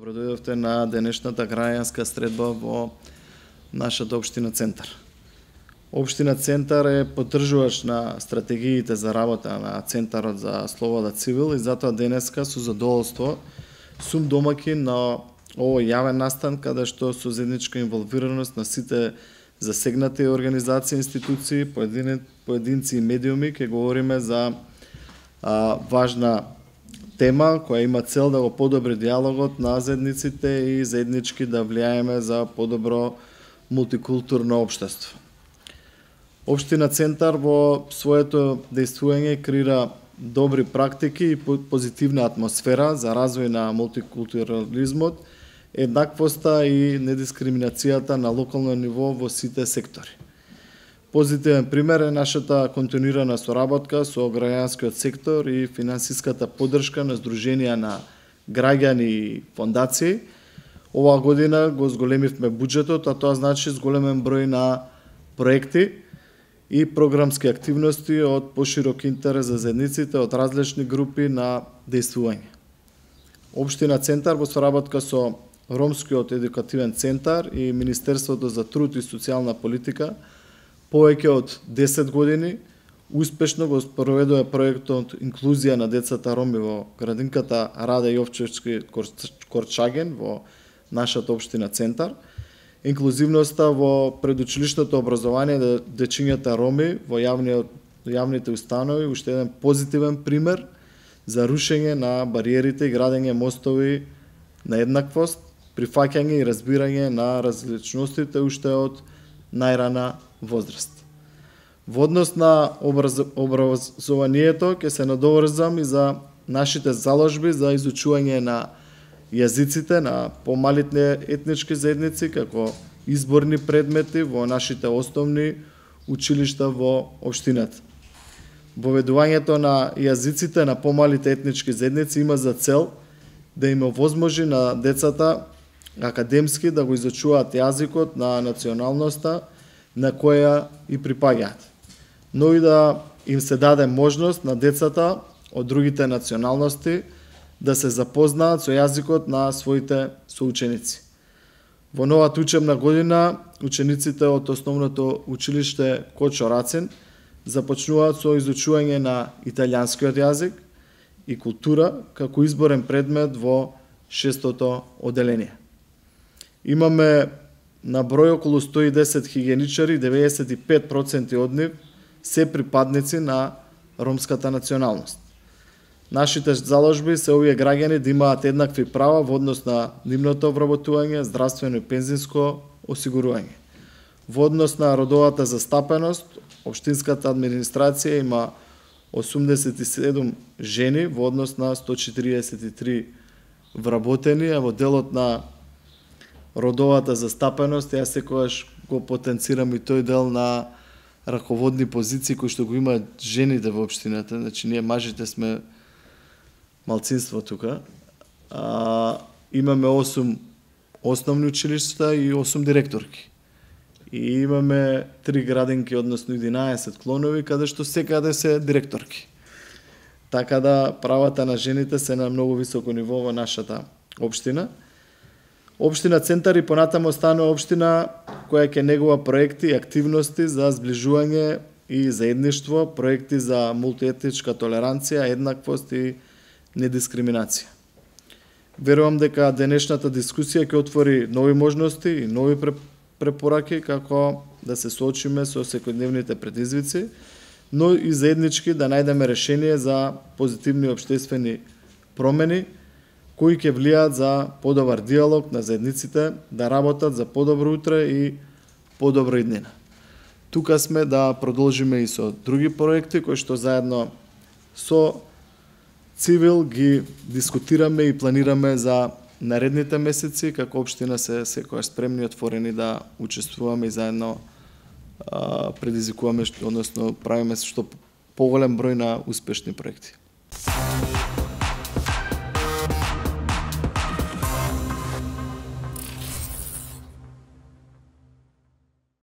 Добродојдовте на денешната граѓанска средба во нашата општина Центар. Општина Центар е поддржувач на стратегиите за работа на Центарот за Слобода Цивил и затоа денеска со задоволство сум домаќин на овој јавен настан каде што со заедничка инволвираност на сите засегнати организации, институции, поединци и медиуми ќе говориме за важна тема која има цел да го подобри диалогот на заедниците и заеднички да влијаеме за подобро мултикултурно општество. Општина Центар во своето дејствување креира добри практики и позитивна атмосфера за развој на мултикултурализмот, еднаквоста и недискриминацијата на локално ниво во сите сектори. Позитивен пример е нашата континуирана соработка со граѓанскиот сектор и финансиската поддршка на здруженија на граѓани и фондации. Оваа година го зголемивме буџетот, а тоа значи зголемен број на проекти и програмски активности од поширок интерес за заедниците од различни групи на дејствување. Општина Центар во соработка со Ромскиот едукативен центар и Министерството за труд и социјална политика повеќе од 10 години успешно го спроведува проектот Инклузија на децата роми во градинката Раде Јовчевски Корчаген во нашата општина Центар. Инклузивноста во предучилишното образование на дечињата роми во јавните установи уште еден позитивен пример за рушење на бариерите и градење мостови на еднаквост, прифаќање и разбирање на различностите уште од најрана возраст. Во однос на образованието ќе се надоврзам и за нашите заложби за изучување на јазиците на помалите етнички заедници како изборни предмети во нашите основни училишта во општината. Воведувањето на јазиците на помалите етнички заедници има за цел да им овозможи на децата академски да го изучуваат јазикот на националноста на која и припаѓаат, но и да им се даде можност на децата од другите националности да се запознаат со јазикот на своите соученици. Во новата учебна година, учениците од основното училиште Кочо Рацин започнуваат со изучување на италијанскиот јазик и култура како изборен предмет во 6-то оделение. Имаме на број околу 110 хигиеничари, 95% од нив се припадници на ромската националност. Нашите заложби се овие граѓани да имаат еднакви права во однос на нивното обработување, здравствено и пензинско осигурување. Во однос на родовата застапеност, општинската администрација има 87 жени во однос на 143 вработени, а во делот на родовата застапеност, јас секогаш го потенцирам и тој дел на раководни позиции кои што го имаат жените во општината, значи ние мажите сме малцинство тука. Имаме 8 основни училишта и 8 директорки. И имаме 3 градинки, односно 11 клонови, каде што секаде се директорки. Така да правата на жените се на многу високо ниво во нашата општина. Општина Центар и понатамо станува општина која ќе негува проекти и активности за зближување и заедништво, проекти за мултиетничка толеранција, еднаквост и недискриминација. Верувам дека денешната дискусија ќе отвори нови можности и нови препораки како да се соочиме со секојдневните предизвици, но и заеднички да најдеме решение за позитивни општествени промени кои ќе влијаат за подобар диалог на заедниците, да работат за подобро утре и подобра иднина. Тука сме да продолжиме и со други проекти кои што заедно со Цивил ги дискутираме и планираме за наредните месеци, како општина се секогаш спремни и отворени да учествуваме и заедно предизвикуваме, односно правиме што поголем број на успешни проекти.